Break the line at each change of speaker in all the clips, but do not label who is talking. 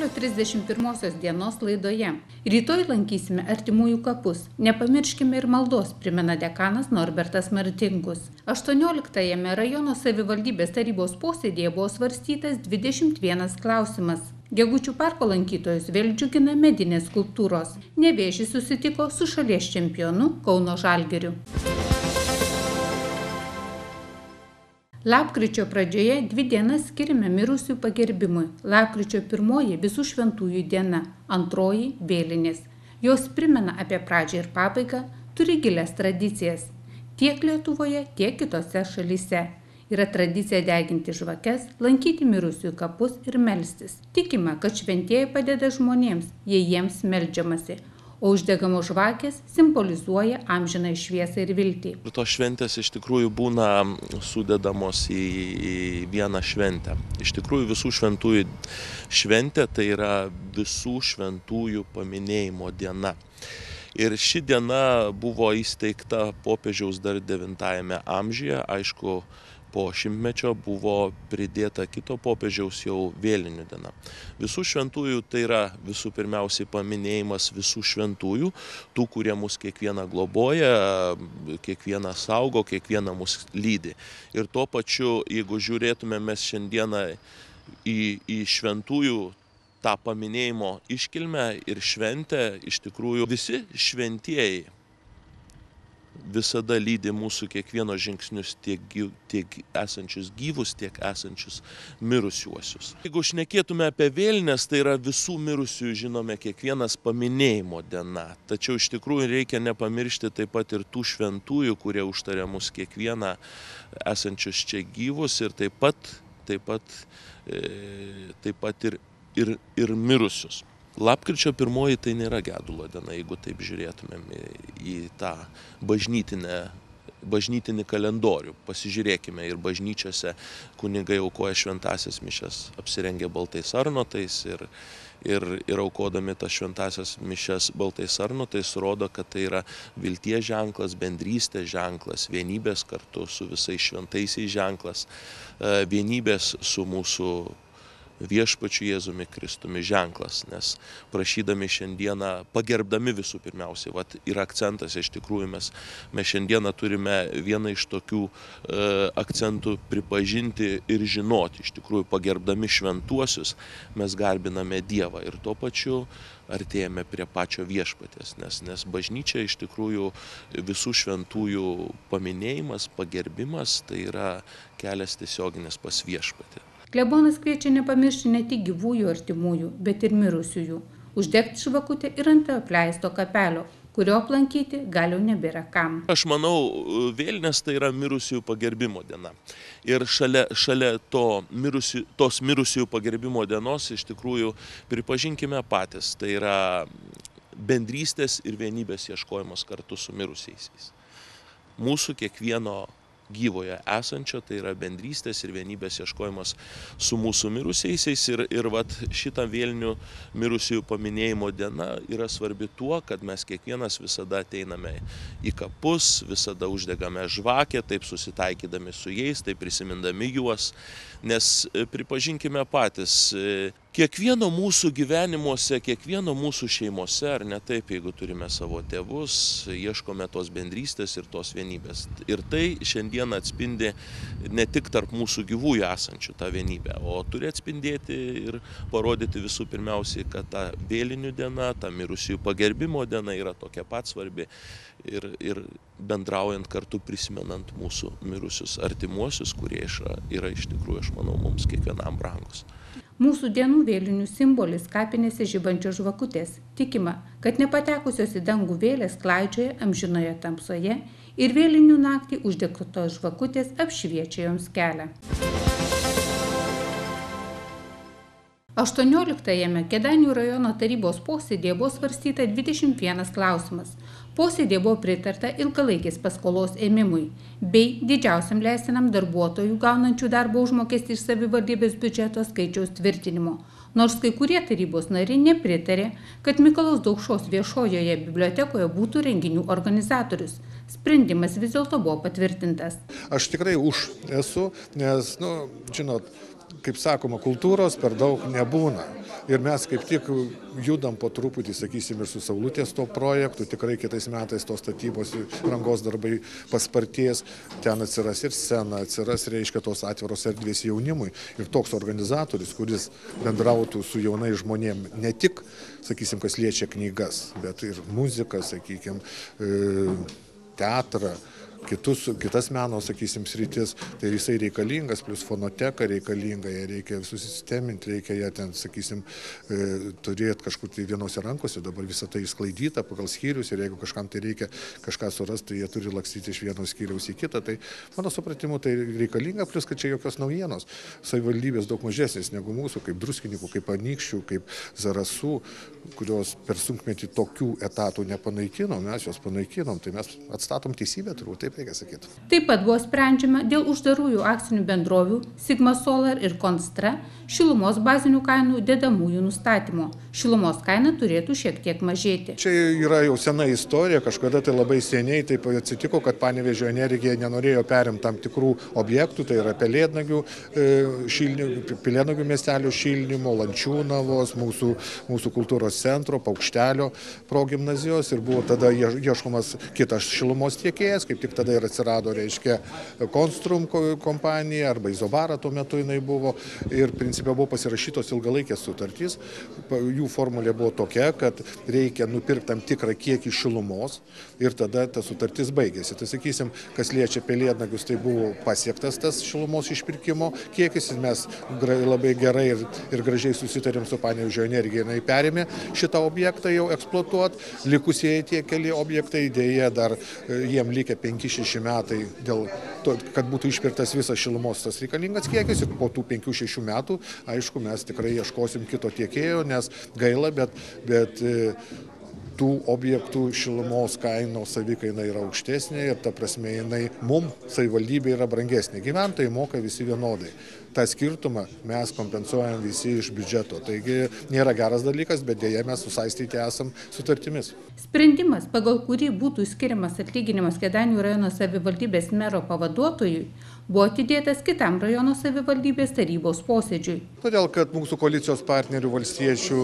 Spalio 31 dienos laidoje. Rytoj lankysime artimųjų kapus. Nepamirškime ir maldos, primena dekanas Norbertas Martinkus. 18-ame rajono savivaldybės tarybos posėdėje buvo svarstytas 21 klausimas. Gegučių parko lankytojus vėl džiugina medinės skulptūros. Nevėžys susitiko su šalies čempionu Kauno Žalgiriu. Lapkričio pradžioje 2 dienas skiriame mirusių pagerbimui. Lapkričio 1 visų šventųjų diena, 2 vėlinės. Jos primena apie pradžią ir pabaigą, turi gilias tradicijas. Tiek Lietuvoje, tiek kitose šalyse. Yra tradicija deginti žvakes, lankyti mirusiųjų kapus ir melstis. Tikima, kad šventieji padeda žmonėms, jei jiems meldžiamasi. O uždegamos žvakės simbolizuoja amžiną šviesą ir viltį.
Tos šventės iš tikrųjų būna sudedamos į vieną šventę. Iš tikrųjų visų šventųjų šventė tai yra visų šventųjų paminėjimo diena. Ir ši diena buvo įsteigta popiežiaus dar 9 amžiuje, aišku, po šimtmečio buvo pridėta kito popiežiaus jau vėlinių diena. Visų šventųjų tai yra visų pirmiausiai paminėjimas visų šventųjų, tų, kurie mus kiekvieną globoja, kiekvieną saugo, kiekvieną mus lydi. Ir tuo pačiu, jeigu žiūrėtume mes šiandieną į šventųjų tą paminėjimo iškilmę ir šventę, iš tikrųjų visi šventieji visada lydi mūsų kiekvieno žingsnius, tiek esančius gyvus, tiek esančius mirusiuosius. Jeigu šnekėtume apie vėlines, tai yra visų mirusiųjų, žinome, kiekvienas paminėjimo diena. Tačiau iš tikrųjų reikia nepamiršti taip pat ir tų šventųjų, kurie užtaria mus kiekvieną esančius čia gyvus ir taip pat ir mirusius. Lapkričio 1 tai nėra gedulo diena, jeigu taip žiūrėtumėm į tą bažnytinį kalendorių. Pasižiūrėkime, ir bažnyčiose kunigai aukoja šventąsias mišias, apsirengę baltais arnotais ir aukodami tas šventąsias mišias baltais arnotais rodo, kad tai yra vilties ženklas, bendrystės ženklas, vienybės kartu su visais šventaisiais ženklas, vienybės su mūsų viešpačiu Jėzumi Kristumi ženklas, nes prašydami šiandieną, pagerbdami visų pirmiausiai, ir akcentas iš tikrųjų mes šiandieną turime vieną iš tokių akcentų pripažinti ir žinoti, iš tikrųjų pagerbdami šventuosius mes garbiname Dievą ir tuo pačiu artėjame prie pačio viešpaties, nes bažnyčia iš tikrųjų visų šventųjų paminėjimas, pagerbimas, tai yra kelias tiesioginis pas viešpatį.
Klebonas kviečia nepamiršti ne tik gyvųjų artimųjų, bet ir mirusiųjų. Uždegti žvakutę ir ant apleisto kapelio, kurio aplankyti gal jau nebėra kam.
Aš manau, vėlinės tai yra mirusiųjų pagerbimo diena. Ir šalia tos mirusiųjų pagerbimo dienos iš tikrųjų pripažinkime patys, tai yra bendrystės ir vienybės ieškojimas kartu su mirusiaisiais. Mūsų kiekvieno gyvoje esančio, tai yra bendrystės ir vienybės ieškojimas su mūsų mirusiaisiais ir šitą vėlinių mirusiųjų paminėjimo diena yra svarbi tuo, kad mes kiekvienas visada ateiname į kapus, visada uždegame žvakę, taip susitaikydami su jais, taip prisimindami juos, nes pripažinkime patys, kiekvieno mūsų gyvenimuose, kiekvieno mūsų šeimose, ar ne taip, jeigu turime savo tėvus, ieškome tos bendrystės ir tos vienybės. Ir tai šiandien atspindi ne tik tarp mūsų gyvųjų esančių tą vienybę, o turi atspindėti ir parodyti visų pirmiausiai, kad ta vėlinių diena, ta mirusiųjų pagerbimo diena yra tokia pat svarbi ir bendraujant kartu prisimenant mūsų mirusius artimuosius, kurie yra iš tikrųjų, aš manau, mums kiekvienam brangus.
Mūsų dienų vėlinių simbolis kapinėse žibančios žvakutės. Tikima, kad nepatekusios į dangų vėlės klaidžioja amžinoje tamsoje ir vėlinių naktį uždegtos žvakutės apšviečia joms kelią. 18-ame Kėdainių rajono tarybos posėdėje buvo svarstyta 21 klausimas. Posėdėje buvo pritarta ilgalaikės paskolos ėmimui bei didžiausiam leistinam darbuotojų gaunančių darbo užmokestį iš savivaldybės biudžeto skaičiaus tvirtinimo. Nors kai kurie tarybos nariai nepritarė, kad Mikalojaus Daukšos viešojoje bibliotekoje būtų renginių organizatorius. Sprendimas vis dėlto buvo patvirtintas.
Aš tikrai už esu, nes, žinot, kaip sakoma, kultūros per daug nebūna. Ir mes kaip tik judam po truputį, sakysim, ir su Saulutės to projektu. Tikrai kitais metais tos statybos rangos darbai paspartės. Ten atsiras ir scena, atsiras, reiškia, tos atviros erdvės jaunimui. Ir toks organizatorius, kuris bendrautų su jaunai žmonėm, ne tik, sakysim, kas liečia knygas, bet ir muziką, sakykim, teatrą, kitas meno, sakysim, sritis, tai jisai reikalingas, plus fonoteka reikalinga, ją reikia susisteminti, reikia ją ten, sakysim, turėti kažkur tai vienose rankose, dabar visą tai išsklaidyta pagal skyrius ir jeigu kažkam tai reikia kažką surasti, tai jie turi lakstyti iš vieno skyriaus į kitą, tai mano supratimu tai reikalinga, plus kad čia jokios naujienos. Savivaldybės daug mažesnės negu mūsų, kaip Druskininkų, kaip Anykščių, kaip Zarasų, kurios per sunkmetį tokių etatų nepanaikinom, mes juos panaikinom, tai mes atstatom teisybę, turbūt taip reikia sakyti.
Taip pat buvo sprendžiama dėl uždarųjų akcinių bendrovių Sigma Solar ir Konstra šilumos bazinių kainų dedamųjų nustatymo. Šilumos kaina turėtų šiek tiek mažėti.
Čia yra jau sena istorija, kažkada tai labai seniai taip atsitiko, kad Panevėžio energija nenorėjo perimti tam tikrų objektų, tai yra Pelėdnagių miestelio šildymo, Lančiūnavos, mūsų kultūros centro, Paukštelio progimnazijos ir buvo tada ieškomas kitas šilumos tiekėjas, kaip tik tada ir atsirado, reiškia, Konstrum kompanija arba Izobara tuo metu jinai buvo ir principė buvo pasirašytos ilgalaikės sutartys. Jų formulė buvo tokia, kad reikia nupirkti tam tikrą kiekį šilumos ir tada ta sutartis baigėsi. Tai sakysim, kas liečia Pelėdnagius, tai buvo pasiektas tas šilumos išpirkimo kiekis ir mes labai gerai ir gražiai susitarėm su Panevėžio energija, jinai perėmė šitą objektą jau eksploatuoti. Likusieji tie keli objektai, dėja dar jiem likę 5-6 metai dėl to, kad būtų išpirktas visas šilumos tas reikalingas kiekis ir po tų 5-6 metų, aišku, mes tikrai ieškosim kito tiekėjo, nes gaila, bet tų objektų šilumos kainos savikaina yra aukštesnė ir ta prasme jinai savivaldybė yra brangesnė. Gyventojai moka visi vienodai. tą skirtumą mes kompensuojam visi iš biudžeto. Taigi nėra geras dalykas, bet dėja mes susaistyti esam sutartimis.
Sprendimas, pagal kurį būtų skiriamas atlyginimas Kėdainių rajono savivaldybės mero pavaduotojui, buvo atidėtas kitam rajono savivaldybės tarybos posėdžiui.
Todėl, kad mūsų koalicijos partnerių valstiečių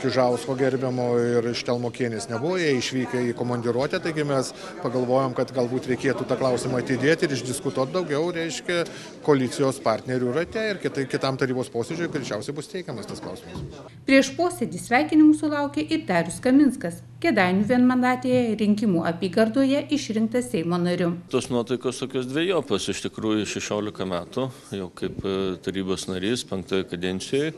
Kižausko gerbiamo ir Štelmokienės nebuvo, jie išvykę į komandiruotę, taigi mes pagalvojom, kad galbūt reikėtų tą klausimą atidėti ir išdiskutuoti daugiau, reiškia, koalicijos partnerių rate ir kitam tarybos posėdžiui greičiausiai bus teikiamas tas klausimas.
Prieš posėdį sveikinimų sulaukė ir Darius Kaminskas, Kėdainių vienmandatėje rinkimų apygardoje išrinktas Seimo nariu.
Tos nuotaikos tokios dvejopos, iš tikrųjų 16 metų, jau kaip tarybos narys 5 kadencijoje.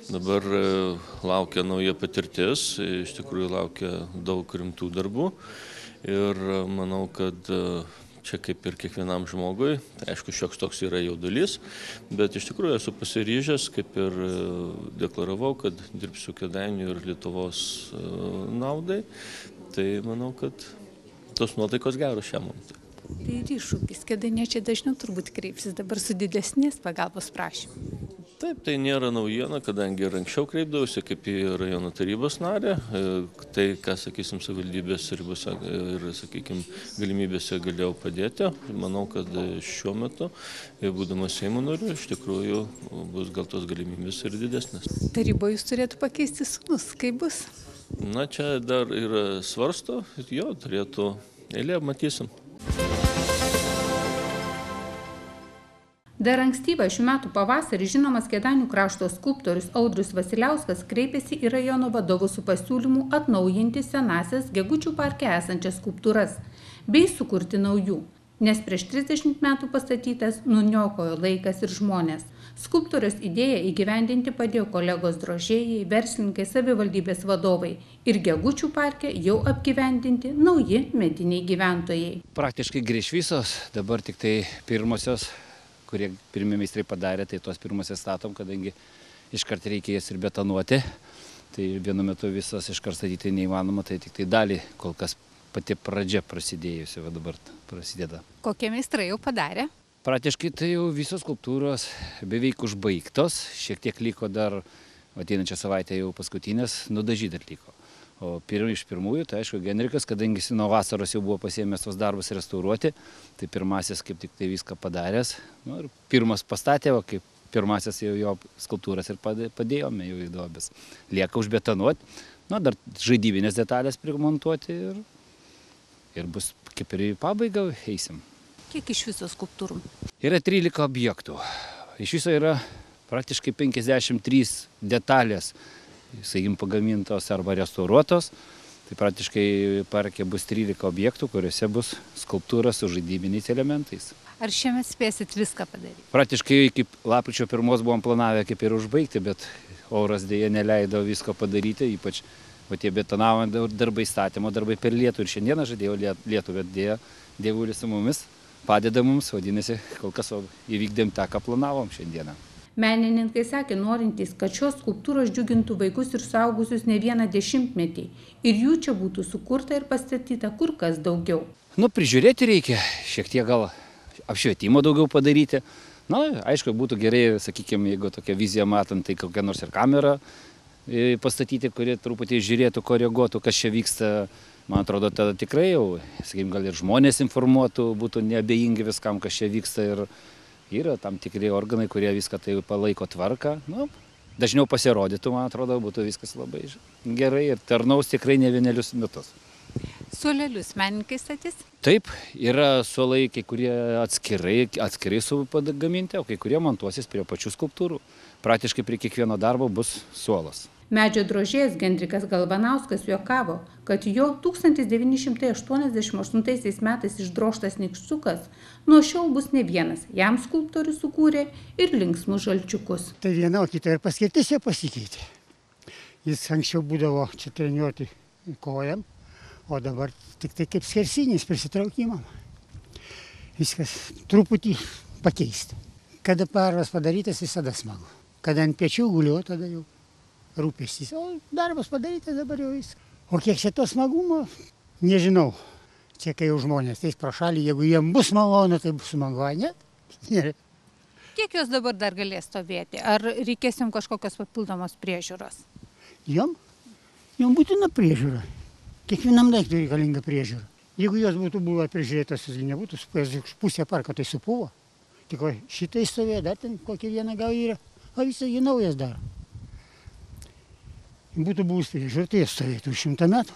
Dabar laukia nauja patirtis, iš tikrųjų laukia daug rimtų darbų ir manau, kad čia kaip ir kiekvienam žmogui, tai aišku, šioks toks yra jaudulys, bet iš tikrųjų esu pasiryžęs, kaip ir deklaravau, kad dirbsiu Kėdainių ir Lietuvos naudai, tai manau, kad tos nuotaikos geros šiam momentui.
Tai ir iššūkis, kėdainiečiai dažniau turbūt kreipsis dabar su didesnės pagalbos prašymu.
Taip, tai nėra naujiena, kadangi ir anksčiau kreipdavausi kaip į rajono tarybos narę, tai, ką, sakysim, savivaldybės ribose ir, sakykim, galimybėse galėjau padėti. Manau, kad šiuo metu, būdamas Seimo nariu, iš tikrųjų bus gal tos galimybės ir didesnės.
Taryboje jūs turėtų pakeisti sūnus, kaip bus?
Na, čia dar yra svarsto, jo, turėtų eilė, matysim.
Dar ankstyvą šių metų pavasarį žinomas Kėdainių krašto skulptorius Audrius Vasiliauskas kreipėsi į rajono vadovus su pasiūlymu atnaujinti senąsias Gegučių parke esančias skulptūras bei sukurti naujų, nes prieš 30 metų pastatytas nuniokojo laikas ir žmonės. Skulptoriaus idėją įgyvendinti padėjo kolegos drožėjai, verslininkai, savivaldybės vadovai ir Gegučių parke jau apgyvendinti nauji mediniai gyventojai.
Praktiškai grįž visos, dabar tik tai pirmosios, kurie pirmi meistrai padarė, tai tos pirmosios statom, kadangi iškart reikia jas ir betonuoti. Tai vienu metu visas iškart statyti neįmanoma, tai tik tai dalį, kol kas pati pradžia prasidėjusi, va dabar prasideda.
Kokie meistrai jau padarė?
Praktiškai tai jau visos skulptūros beveik užbaigtos, šiek tiek liko dar, ateinančią savaitę jau paskutinės, nudažyti dar liko. O iš pirmųjų, tai aišku, Genrikas, kadangi jis nuo vasaros jau buvo pasiėmęs tos darbus restauruoti, tai pirmasis kaip tik tai viską padaręs. Nu, ir pirmas pastatė, o kaip pirmasis jo skulptūras ir padėjome jau į duobes. Lieka užbetonuoti, dar žaidybinės detalės primontuoti ir bus kaip ir į pabaigą eisim.
Kiek iš viso skulptūrų?
Yra 13 objektų. Iš viso yra praktiškai 53 detalės, sakykim, pagamintos arba restauruotos. Tai praktiškai parke bus 13 objektų, kuriuose bus skulptūra su žaidybiniais elementais.
Ar šiemet spėsit viską padaryti?
Praktiškai kaip lapkričio 1 buvom planavę kaip ir užbaigti, bet oras dėja neleido visko padaryti, ypač tie betonavimo darbai, statymo darbai per lietų. Ir šiandieną žadėjau lietų, bet dėja Dievulis su mumis padeda mums, vadinasi, kol kas įvykdėm tą, ką planavom šiandieną.
Menininkai sakė, norintys, kad šios skulptūros džiugintų vaikus ir suaugusius ne vieną dešimtmetį ir jų čia būtų sukurta ir pastatyta kur kas daugiau.
Prižiūrėti reikia, šiek tiek gal apšvietimo daugiau padaryti. Aišku, būtų gerai, sakykime, jeigu tokia vizija matant, tai kokią nors ir kamerą pastatyti, kuri truputį žiūrėtų, koreguotų, kas čia vyksta. Man atrodo, tada tikrai jau, sakykime, gal ir žmonės informuotų, būtų neabejingi viskam, kas čia vyksta ir yra tam tikri organai, kurie viską tai palaiko tvarką. Dažniau pasirodytų, man atrodo, būtų viskas labai gerai ir tarnaus tikrai ne vienerius metus.
Suolelius menininkai statys?
Taip, yra suolai, kai kurie atskirai pagaminti, o kai kurie montuosis prie pačių skulptūrų. Praktiškai prie kiekvieno darbo bus suolas.
Medžio drožėjas Gendrikas Galvanauskas juokavo, kad jo 1988 metais išdrožtas nykštukas nuo šiol bus ne vienas. Jam skulptorius sukūrė ir linksmus žalčiukus.
Tai viena, o kita ir paskirtis jo pasikeitė. Jis anksčiau būdavo čia treniruoti kojam, o dabar tik tai kaip skersinis prisitraukimam. Viskas truputį pakeisti. Kada parvas padarytas, visada smagu. Kada ant pečių guliu, tada jau rūpestis. O darbas padarytas, dabar jau viskas. O kiek čia to smagumo, nežinau. Čia kai jau žmonės teis pro šalį, jeigu jiem bus malonu, tai bus smagu, ne?
Kiek jos dabar dar galės stovėti? Ar reikės jums kažkokios papildomos priežiūros?
Jom būtina priežiūra. Kiekvienam daiktui reikalinga priežiūra. Jeigu jos būtų buvę prižiūrėtos, jis nebūtų supėjęs pusę parko, tai supuvo. Tik šitai stovėjo, dar ten kokia viena gal yra, o visą jį naujas daro. Būtų buvus priežiūra, tai jis stovėtų 100 metų.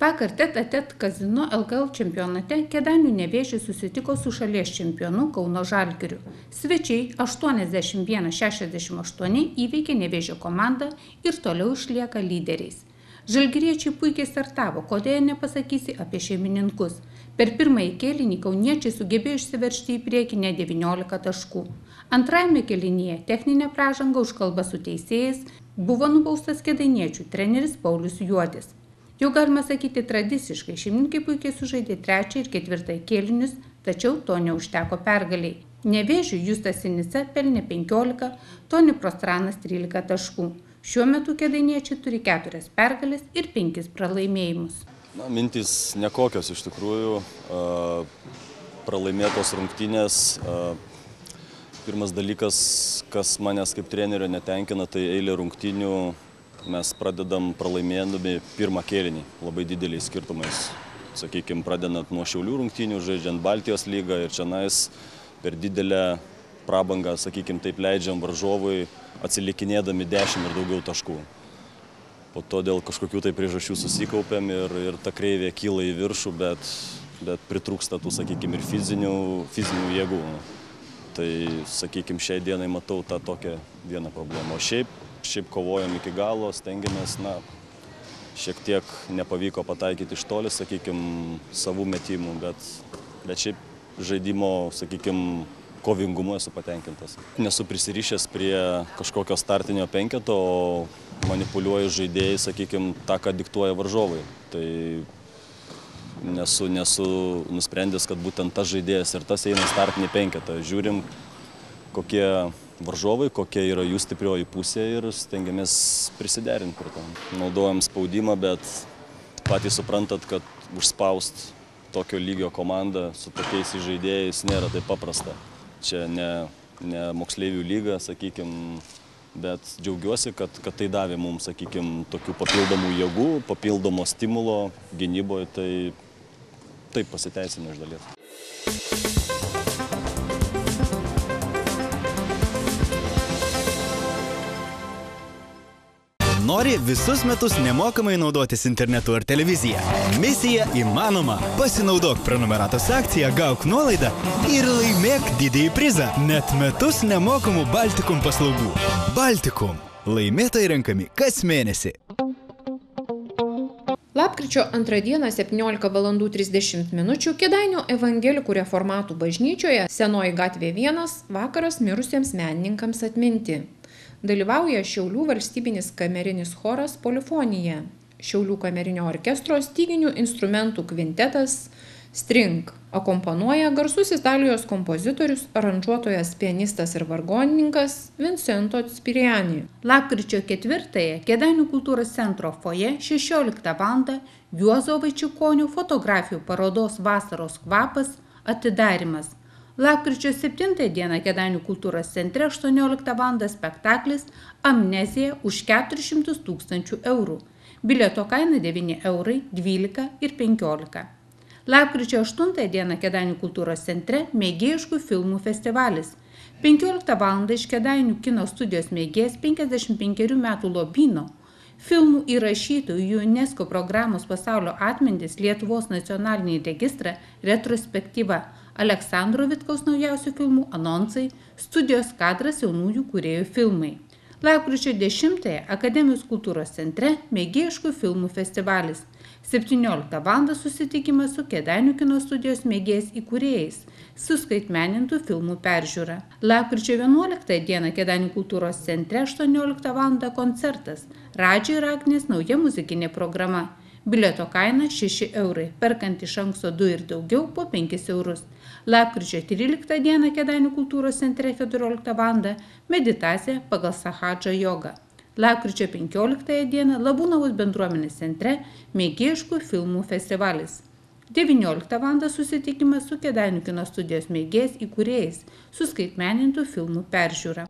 Vakar tet-a-tet Kazino LKL čempionate Kėdainių Nevėžis susitiko su šalies čempionu Kauno Žalgiriu. Svečiai 81-68 įveikė Nevėžio komandą ir toliau išlieka lyderiais. Žalgiriečiai puikiai startavo, kodėl nepasakysi apie šeimininkus. Per pirmąjį kėlinį kauniečiai sugebėjo išsiveržti į priekį ne 19 taškų. Antrajame kėlinyje techninė pražanga už kalbą su teisėjais buvo nubaustas kėdainiečių treneris Paulius Juodis. Jau galima sakyti tradiciškai, šeimininkai puikiai sužaidė 3. ir 4. kėlinius, tačiau to neužteko pergaliai. Nevėžiui Justas Sinica pelnė 15, Toni Prostranas 13 taškų. Šiuo metu kėdainiečiai turi 4 pergalės ir 5 pralaimėjimus.
Mintys nekokios iš tikrųjų, pralaimėtos rungtynės. Pirmas dalykas, kas manęs kaip trenerio netenkina, tai eilė rungtynių. Mes pradedam pralaimėdami pirmą kėlinį, labai dideliais skirtumais. Sakykime, pradedant nuo Šiaulių rungtynių, žaidžiant Baltijos lygą ir čionais per didelę prabangą, sakykime, taip leidžiam varžovui atsilikinėdami 10 ir daugiau taškų. Po to dėl kažkokių tai priežasčių susikaupiam ir ta kreivė kyla į viršų, bet pritrūksta tų, sakykime, ir fizinių jėgų. Tai, sakykime, šiai dienai matau tą tokią vieną problemą. O šiaip kovojam iki galo, stengiamės, šiek tiek nepavyko pataikyti iš toli, sakykime, savų metimų, bet šiaip žaidimo, sakykime, kovingumu esu patenkintas. Nesu prisirišęs prie kažkokio startinio penketo, o manipuliuoju žaidėjai, sakykime, tą, ką diktuoja varžovai. Tai nesu nusprendęs, kad būtent tas žaidėjas ir tas eina startinį penketą. Žiūrim, kokie varžovai, kokia yra jų stiprioji pusė ir stengiamės prisiderinti prie to. Naudojam spaudimą, bet patys suprantat, kad užspaust tokio lygio komandą su tokiais žaidėjais nėra taip paprasta. Čia ne moksleivių lyga, sakykime, bet džiaugiuosi, kad tai davė mums, sakykime, tokių papildomų jėgų, papildomo stimulo gynyboje, tai taip pasiteisino iš dalies.
nori visus metus nemokamai naudotis internetu ar televizija? Misija įmanoma. Pasinaudok prenumeratos akciją, gauk nuolaidą ir laimėk didįjį prizą. Net metus nemokamų Baltikum paslaugų. Baltikum. Laimėtojai renkami kas mėnesį.
Lapkričio 2 dieną 17:30 min. Kėdainių evangelikų reformatų bažnyčioje Senoji gatvė 1 vakaras mirusiems menininkams atminti. Dalyvauja Šiaulių valstybinis kamerinis choras Polifonija, Šiaulių kamerinio orkestro styginių instrumentų kvintetas String. Akompanuoja garsus Italijos kompozitorius, aranžuotojas, pianistas ir vargonininkas Vincento Spiriani.
Lapkričio 4 Kėdainių kultūros centro foje 16 val. Juozo Vaičiukonio fotografijų parodos Vasaros kvapas atidarimas. Lapkričio 7 dieną Kėdainių kultūros centre 18 val. Spektaklis Amnezija už 400 000 eurų. Bilieto kaina 9 eurai, 12 ir 15. Lapkričio 8 dieną Kėdainių kultūros centre mėgėjiškų filmų festivalis. 15 val. Iš Kėdainių kino studijos mėgėjas 55 metų Lobyno filmų įrašytojų UNESCO programos Pasaulio atmintis Lietuvos nacionalinį registrą retrospektyva. Aleksandro Vitkaus naujausių filmų anonsai, studijos kadras jaunųjų kūrėjų filmai. Lapkričio 10 Akademijos kultūros centre mėgėjiškų filmų festivalis. 17 val. Susitikimas su Kėdainių kino studijos mėgėjais įkūrėjais, suskaitmenintų filmų peržiūra. Lapkričio 11 dieną Kėdainių kultūros centre 18 val. Koncertas Radži ir Agnės nauja muzikinė programa. Bilieto kaina 6 eurai, perkant iš anksto 2 ir daugiau po 5 eurus. Lapkričio 13 dieną Kėdainių kultūros centre 14 val. Meditacija pagal Sahadžą jogą. Lapkričio 15 dieną Labūnavos bendruomenės centre mėgėjiškų filmų festivalis. 19 val. Susitikimas su Kėdainių kino studijos mėgėjais įkūrėjais, suskaitmenintų filmų peržiūra.